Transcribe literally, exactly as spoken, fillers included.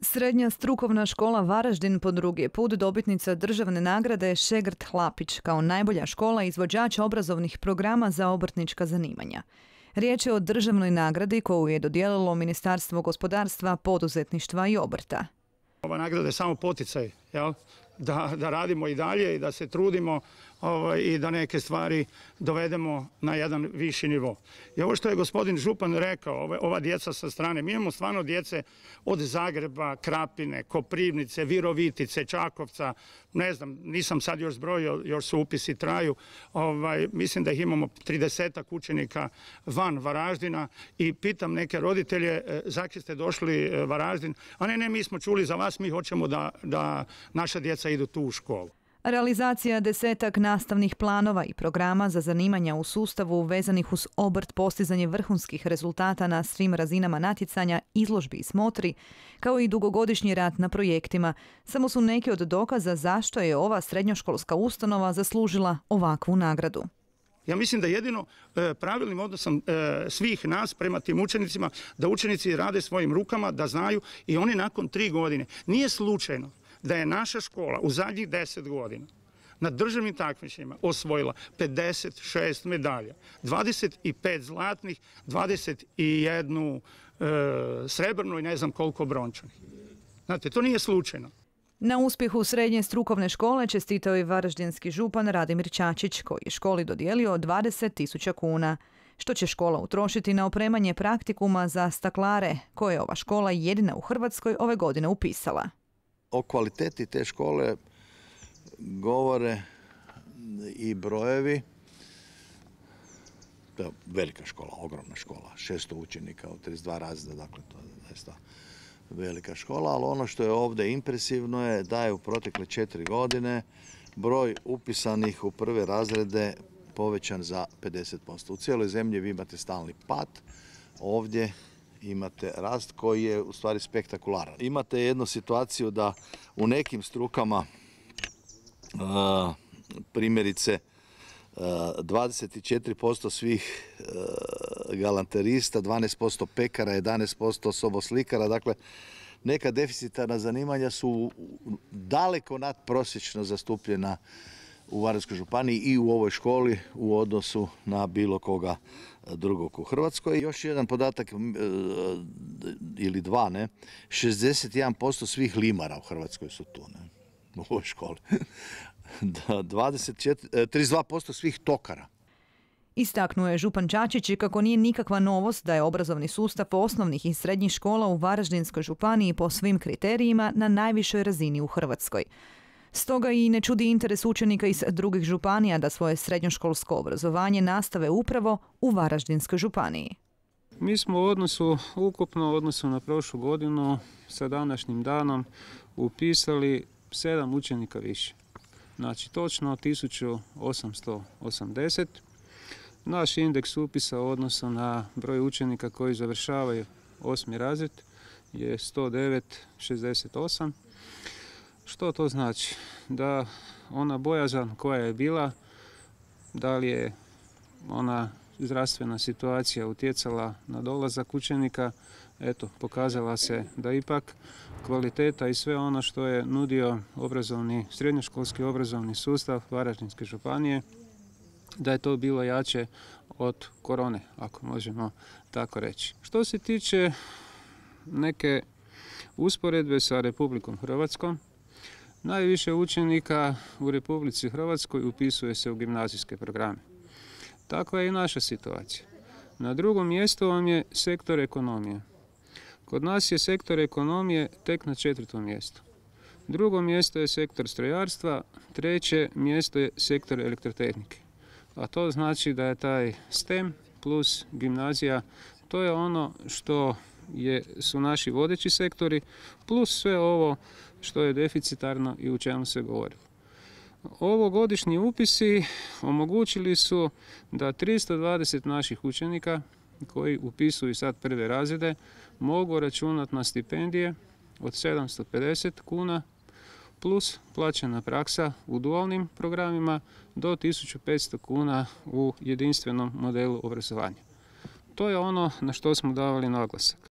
Srednja strukovna škola Varaždin po drugi je put dobitnica državne nagrade Šegrt Hlapić kao najbolja škola izvođača obrazovnih programa za obrtnička zanimanja. Riječ je o državnoj nagradi koju je dodijelilo Ministarstvo gospodarstva, poduzetništva i obrta. Ova nagrada je samo poticaj, jel? Da, da radimo i dalje i da se trudimo ovaj, i da neke stvari dovedemo na jedan viši nivo. I ovo što je gospodin župan rekao, ove, ova djeca sa strane, mi imamo stvarno djece od Zagreba, Krapine, Koprivnice, Virovitice, Čakovca, ne znam, nisam sad još zbrojio, još su upisi traju, ovaj, mislim da ih imamo tridesetak učenika van Varaždina i pitam neke roditelje, zakaj ste došli Varaždin, a ne, ne, mi smo čuli za vas, mi hoćemo da, da naša djeca idu tu u školu. Realizacija desetak nastavnih planova i programa za zanimanja u sustavu vezanih uz obrt, postizanje vrhunskih rezultata na svim razinama natjecanja, izložbi i smotri, kao i dugogodišnji rad na projektima, samo su neki od dokaza zašto je ova srednjoškolska ustanova zaslužila ovakvu nagradu. Ja mislim da jedino e, pravilnim odnosom e, svih nas prema tim učenicima, da učenici rade svojim rukama, da znaju i oni nakon tri godine. Nije slučajno da je naša škola u zadnjih deset godina na državnim takmičenjima osvojila pedeset šest medalja, dvadeset pet zlatnih, dvadeset jednu e, srebrnu i ne znam koliko brončanih. Znate, to nije slučajno. Na uspjehu srednje strukovne škole čestitao je varaždinski župan Radimir Čačić, koji je školi dodijelio dvadeset tisuća kuna, što će škola utrošiti na opremanje praktikuma za staklare, koje je ova škola jedina u Hrvatskoj ove godine upisala. O kvaliteti te škole govore i brojevi. To je velika škola, ogromna škola, šesto učenika u trideset dva razreda, dakle to je zaista velika škola, ali ono što je ovdje impresivno je da je u protekle četiri godine broj upisanih u prve razrede povećan za pedeset posto. U cijeloj zemlji vi imate stalni pad, ovdje imate rast koji je u stvari spektakularan. Imate jednu situaciju da u nekim strukama uh, primjerice uh, dvadeset četiri posto svih uh, galanterista, dvanaest posto pekara, jedanaest posto soboslikara, dakle neka deficitarna zanimanja su daleko nadprosječno zastupljena u Varaždinskoj županiji i u ovoj školi u odnosu na bilo koga drugog u Hrvatskoj. Još jedan podatak ili dva, ne, šezdeset jedan posto svih limara u Hrvatskoj su tu, ne, u ovoj školi. dvadeset četiri, trideset dva posto svih tokara. Istaknuo je župan Čačić i kako nije nikakva novost da je obrazovni sustav osnovnih i srednjih škola u Varaždinskoj županiji po svim kriterijima na najvišoj razini u Hrvatskoj. Stoga i ne čudi interes učenika iz drugih županija da svoje srednjoškolsko obrazovanje nastave upravo u Varaždinskoj županiji. Mi smo u odnosu, ukupno u odnosu na prošlu godinu, sa današnjim danom upisali sedam učenika više. Znači točno tisuću osamsto osamdeset. Naš indeks upisa u odnosu na broj učenika koji završavaju osmi razred je sto devet zarez šezdeset osam. Što to znači? Da ona bojazan koja je bila, da li je ona zdravstvena situacija utjecala na dolazak učenika, eto, pokazala se da ipak kvaliteta i sve ono što je nudio obrazovni, srednjoškolski obrazovni sustav Varaždinske županije, da je to bilo jače od korone, ako možemo tako reći. Što se tiče neke usporedbe sa Republikom Hrvatskom, najviše učenika u Republici Hrvatskoj upisuje se u gimnazijske programe. Takva je i naša situacija. Na drugom mjestu vam je sektor ekonomije. Kod nas je sektor ekonomije tek na četvrtom mjestu. Drugo mjesto je sektor strojarstva, treće mjesto je sektor elektrotehnike. A to znači da je taj STEM plus gimnazija, to je ono što je, su naši vodeći sektori, plus sve ovo što je deficitarno i u čemu se govorilo. Ovogodišnji upisi omogućili su da tristo dvadeset naših učenika koji upisuju sad prve razrede mogu računati na stipendije od sedamsto pedeset kuna plus plaćena praksa u dualnim programima do tisuću petsto kuna u jedinstvenom modelu obrazovanja. To je ono na što smo davali naglasak.